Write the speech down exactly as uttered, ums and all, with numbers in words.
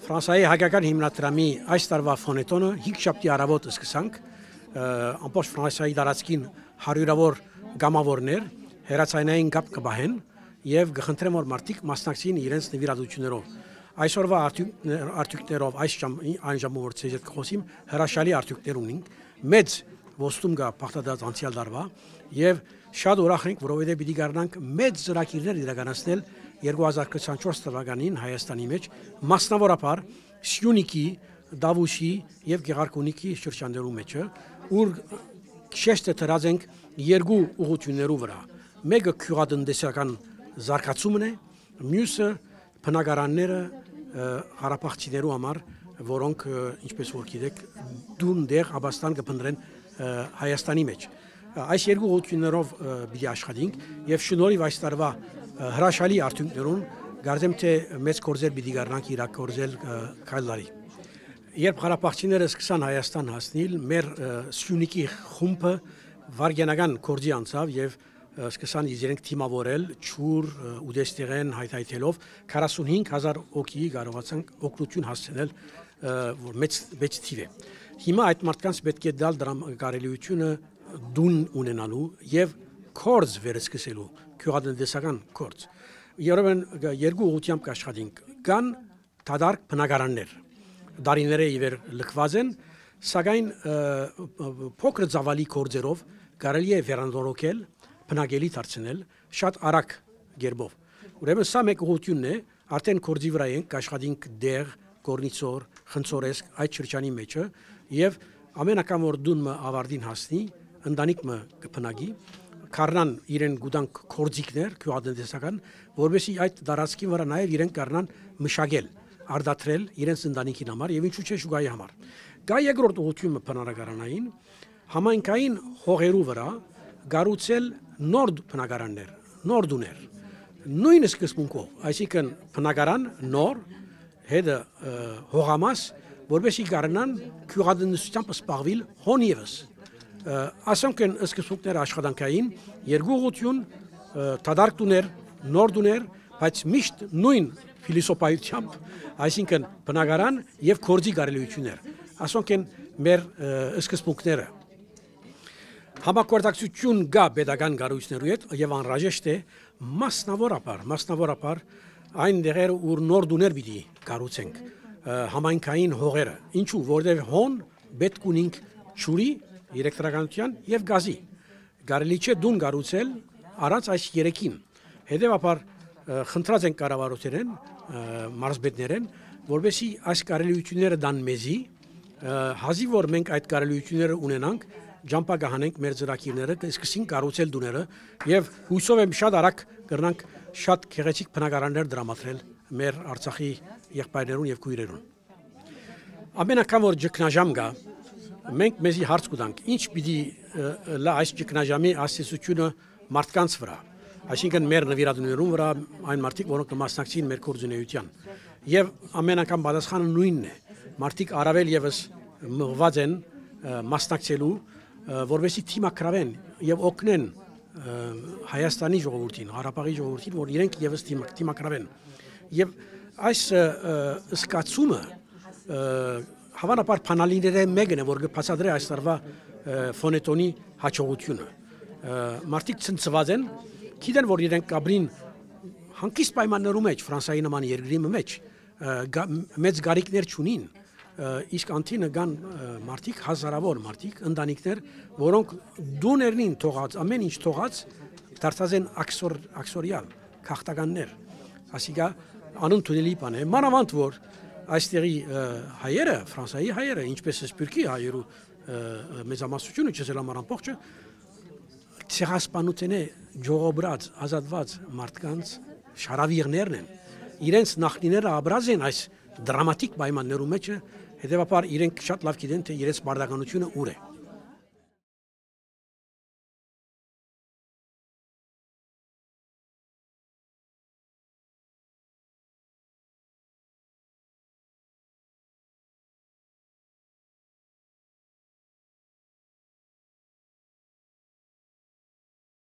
Ֆրանսիայի հայկական հիմնադրամի այս տարվա ֆոնետոնը հինգշաբթի առավոտ սկսանք, ամբողջ Ֆրանսիայի տարածքին հարյուրավոր գամավորներ հեռացանային կապ կբահեն եւ կխնդրեմ որ մարդիկ մասնակցին իրենց նվիրատություններով։ Այսօրվա արդյունքներով այս այն ժամը որ ցեզ հետ կխոսիմ հրաշալի արդյունքներ ունենք, մեծ ոստում կա փախտած անցյալ տարվա եւ շատ ուրախ ենք, որովհետեւ պիտի կարողանանք մեծ ծրագիրներ իրականացնել երկու հազար քսաներկու թվականին Հայաստանի մեջ, մասնավորապես Սյունիքի, Դավուշի եւ Գեղարքունիքի շրջաններու մեջ, ուր շեշտը դրած ենք երկու ուղղություններու վրա։ Մեկը քյուղատնտեսական զարգացումն է, մյուսը բնակարանները հարաբաղցիներու համար, որոնք ինչպես որ գիտեք, դուն դեղ Աբաստան կփնտրեն Հայաստանի մեջ։ Այս երկու ուղղություններով պիտի աշխատենք եւ շնորհիվ այս տարվա հրաշալի արդյունքներուն գարդեմ թե մեծ կորձեր պիտի գարնանք իրակորձել քայլարի։ Երբ հարաբաղցիները սկսան Հայաստան հասնել, մեր Սյունիքի խումբը վարգենական կորձի անցավ եւ սկսան իրենք թիմավորել ճուր ուդեստերեն հայթայթելով քառասունհինգ հազար օկի կարողացան օգնություն հասցնել, որ մեծ մեծ թիվ է։ Հիմա այդ մարդկանց պետք է դալ դրամ կարելիությունը դուն ունենալու եւ կորձ վերսկսելու քյուղատնտեսական կորձ։ Երբեմն երկու ուղղությամբ կաշխատենք, կան դադարք բնակարաններ, դարիները իվեր լքված են, սակայն փոքր ծավալի կորձերով կարելի է վերանորոգել, բնակելի դարձնել շատ արագ գերբով։ Ուրեմն սա մեկ ուղղությունն է, արդեն կորձի վրա ենք կաշխատենք դեղ, կորնիցոր, խնձորեսկ այդ շրջանի մեջը եւ ամեն անգամ որ դունը ավարտին հասնի, ընտանիքը կփնագի, կառնան իրեն գուտանք կորձիկներ, քյուղատնտեսական, որովհետեւ այդ դարածքի վրա նաեւ իրեն կառնան մշակել, արդատրել իրենց ընտանիքին համար եւ ինչու՞ չէ շուգայի համար։ Գա երկրորդ ուղղությունը բնակարանային, համայնքային հողերու վրա գառուցել նոր բնակարաններ, նոր դուներ։ Նույն սկզբունքով, այսինքն բնակարան նոր, հետը հողամաս, որովհետեւ կառնան քյուղատնտեսությամբ սպառվել հոնիվս։ Ասենք են սկզբունքները աշխատանքային, երկու ուղղություն, դադարք դուներ, նոր դուներ, բայց միշտ նույն փիլիսոփայությամբ, այսինքն բնակարան եւ կորձի կարելիություններ։ Ասենք են մեր սկզբունքները։ Համակարգություն կա pedagogan գարույցներու հետ եւ անհրաժեշտ է մասնավորապես, մասնավորապես այն դերերը ուր նոր դուներ պիտի կառուցենք համայնքային հողերը։ Ինչու՞, որտեղ հոն պետք ունենք ճուրի, էլեկտրականության եւ գազի։ Կարելի չէ դուն կառուցել առանց այս երեքին։ Հետեւաբար խնդրած ենք կառավարությունեն, մարզպետներեն, որովհետեւ այս կարելիությունները դան մեզի, հազիվ որ մենք այդ կարելիությունները ունենանք, ջամփա կհանենք մեր ծրագիրները, կսկսենք կառուցել դուները եւ հույսով եմ շատ արագ կրնանք շատ գեղեցիկ բնակարաններ դրամատրել մեր Արցախի եղբայրներուն եւ քույրերուն։ Ամեն անգամ որ ճգնաժամ կա, մենք մեզի հարց կտանք, ինչ պիտի լա այս ճգնաժամի ասացությունը մարդկանց վրա, այսինքն մեր նվիրատուներուն վրա, այն մարդիկ, որոնք կմասնակցին մեր կորձունեության։ Եվ ամեն անգամ պատասխանը նույնն է։ Մարդիկ առավել եւս մղված են մասնակցելու, որովհետեւ թիմակրավեն եւ օգնեն Հայաստանի ժողովրդին, Ղարաբաղի ժողովրդին, որ իրենք եւս թիմակրավեն։ Եվ այս սկացումը հավանաբար փանալիները մեկն է, որ կբացատրի այս տարվա ֆոնետոնի հաջողությունը։ Մարդիկ ցնցված են, գիտեն, որ իրենք կաբրին հանկիստ պայմաններում մեջ, Ֆրանսիայի նման երկրի մեջ, մեծ գարիկներ չունին, իսկ անտինը կան մարդիկ, հազարավոր մարդիկ, ընտանիքներ, որոնք դուներնին թողած, ամեն ինչ թողած, դարձած են աքսորիալ, քաղաքականներ։ Ասիկա անընդունելի բան է, մանավանդ որ այստեղի հայերը, Ֆրանսիայի հայերը, ինչպես է Սփյուռքի հայերու մեծամասնությունը, չսել համար ամբողջը, ցեղասպանության է ժողոբրած, ազատված մարդկանց շարավիղներն են։ Իրենց նախնիները աբրած են այս դրամատիկ պայմաններու մեջ, հետևաբար իրենք շատ լավ գիտեն, թե իրենց բարդականությունը ուր է։